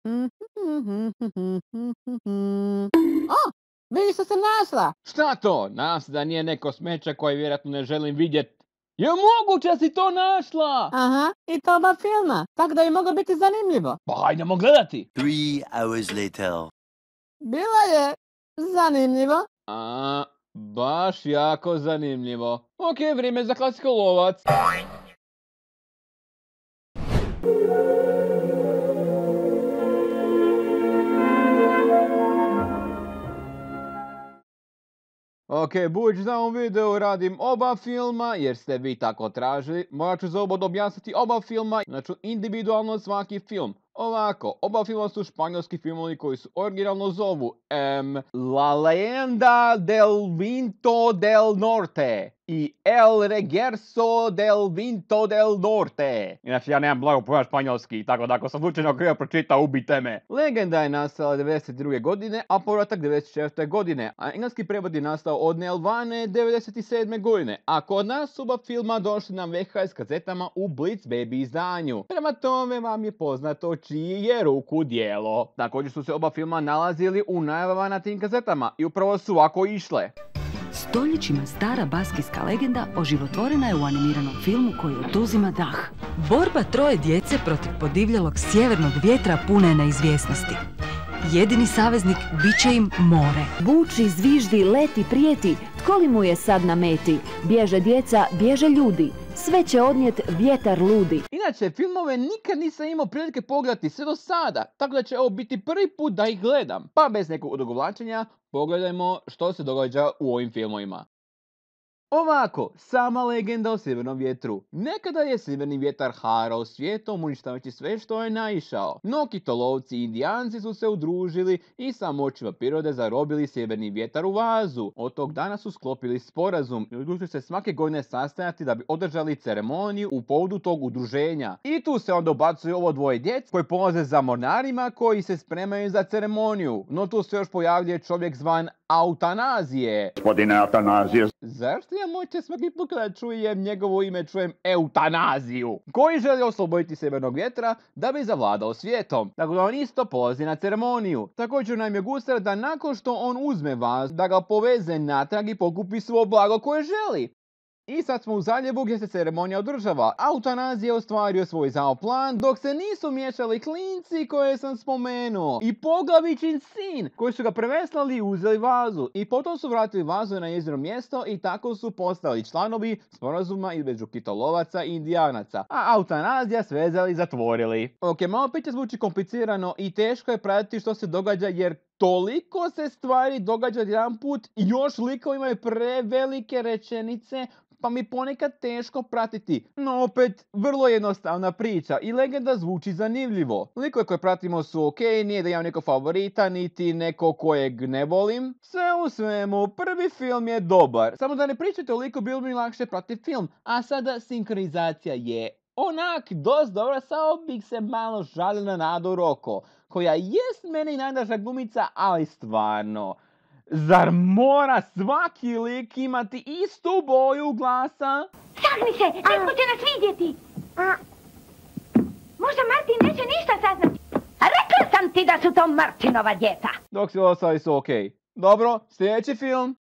O, vidi što sam našla. Šta to? Nadam se da nije neko smeće koje vjerojatno ne želim vidjet. Je moguće da si to našla? Aha, i to oba filma, tako da bi moglo biti zanimljivo. Pa hajdemo gledati. 3 hours later. Bilo je zanimljivo. Baš jako zanimljivo. Ok, vrijeme za klasiko lovac. Ok, budući da u ovom videu radim oba filma, jer ste vi tako tražili, morat ću za obod objasniti oba filma, znači individualno svaki film. Ovako, oba filma su španjolski filmovi koji su originalno zovu La leyenda del Vinto del Norte i El regreso del Vinto del Norte. Inače, ja nemam blago pojma španjolski, tako da ako sam slučajno krivo pročitao, ubite me. Legenda je nastala 92. godine, a povratak 94. godine, a engleski prevod je nastao od Nelvane 97. godine, a kod nas su oba filma došli na VHS kazetama u Blitz Baby izdanju. Prema tome vam je poznato čiji je ruku djelo. Također su se oba filma nalazili u najavama na tim kazetama i upravo su ovako išle. Stoljećima stara baskijska legenda oživotvorena je u animiranom filmu koji oduzima dah. Borba troje djece protiv podivljalog sjevernog vjetra pune je neizvjesnosti. Jedini saveznik bit će im more. Buči, zviždi, leti, prijeti, tko li mu je sad na meti? Bježe djeca, bježe ljudi, sve će odnijet vjetar ludi. Inače, filmove nikad nisam imao prilike pogledati sve do sada, tako da će ovo biti prvi put da ih gledam. Pa bez nekog odugovlačenja, pogledajmo što se događa u ovim filmovima. Ovako, sama legenda o sjevernom vjetru. Nekada je sjeverni vjetar harao svijetom uništavajući sve što je naišao. No kitolovci i indijanci su se udružili i sa moćima prirode zarobili sjeverni vjetar u vazu. Od tog dana su sklopili sporazum i odlučili se svake godine sastajati da bi održali ceremoniju u povodu tog udruženja. I tu se onda ubacuje ovo dvoje djece koji polaze za mornarima koji se spremaju za ceremoniju. No tu se još pojavljuje čovjek zvan Autanazije. Gospodine Autanazije. Zašto ja moće svaki put kada čujem njegovo ime čujem eutanaziju? Koji želi osloboditi sjevernog vjetra da bi zavladao svijetom. Tako da on isto polazi na ceremoniju. Također nam je gusar da nakon što on uzme vas, da ga poveze natrag i pokupi svo blago koje želi. I sad smo u zaljevu gdje se ceremonija održava. Autanazije je ostvario svoj zao plan dok se nisu miješali klinci koje sam spomenuo. I Poglavićin sin koji su ga preveslali i uzeli vazu. I potom su vratili vazu na njezino mjesto i tako su postali članovi sporazuma između kitolovaca i indijanaca. A Autanazija svezali i zatvorili. Ok, malo piće zvuči komplicirano i teško je pratiti što se događa jer toliko se stvari događa jedan put i još likovi imaju prevelike rečenice pa mi ponekad teško pratiti. No opet, vrlo jednostavna priča i legenda zvuči zanimljivo. Likove koje pratimo su ok, nije da imam neko favorita, niti neko kojeg ne volim. Sve u svemu, prvi film je dobar. Samo da ne pričate toliko, bilo mi lakše pratiti film. A sada sinkronizacija je onak dosta dobra, samo bih se malo žalio na Nadu Rocco, koja jest meni najdraža glumica, ali stvarno, zar mora svaki lik imati istu boju glasa? Sagni se, netko će nas vidjeti. Možda Martin neće ništa saznati. Rekla sam ti da su to Martinova djeca. Dok svi ostali su ok. Dobro, sljedeći film.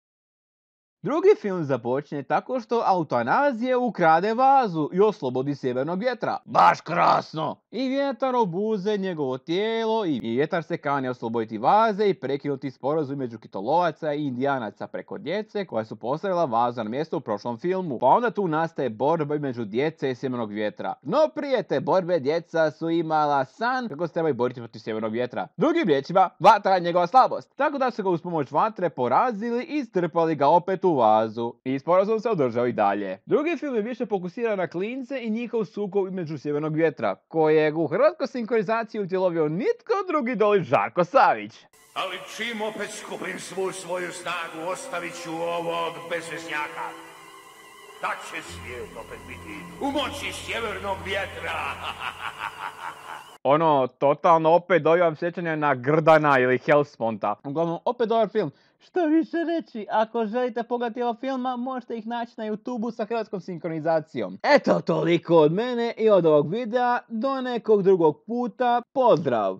Drugi film započne tako što Autanazije ukrade vazu i oslobodi sjevernog vjetra. Baš krasno! I vjetar obuze njegovo tijelo i vjetar se kani osloboditi vaze i prekinuti sporazum među kitolovaca i indijanaca preko djece koja su postavila vazu na mjesto u prošlom filmu. Pa onda tu nastaje borba među djece i sjevernog vjetra. No prije te borbe djeca su imala san kako se trebaju boriti protiv sjevernog vjetra. Drugim riječima, vatra je njegova slabost. Tako da su ga uz pomoć vatre porazili i strpali ga opet u vazu. I sporazum se održao i dalje. Drugi film je više fokusiran na klince i njihov sukob između sjevernog vjetra, kojeg u hrvatskoj sinkronizaciji utjelovio nitko drugi doli Žarko Savić. Ali čim opet skupim svu svoju snagu, ostavit ću ovog bezveznjaka. Da će svijet opet biti u moći sjevernog vjetra. Totalno opet dobivam sjećanje na Grdana ili Hellsponta. Uglavnom, opet dobar film. Što više reći, ako želite pogledati ova filma, možete ih naći na YouTubeu sa hrvatskom sinkronizacijom. Eto, toliko od mene i od ovog videa. Do nekog drugog puta. Pozdrav!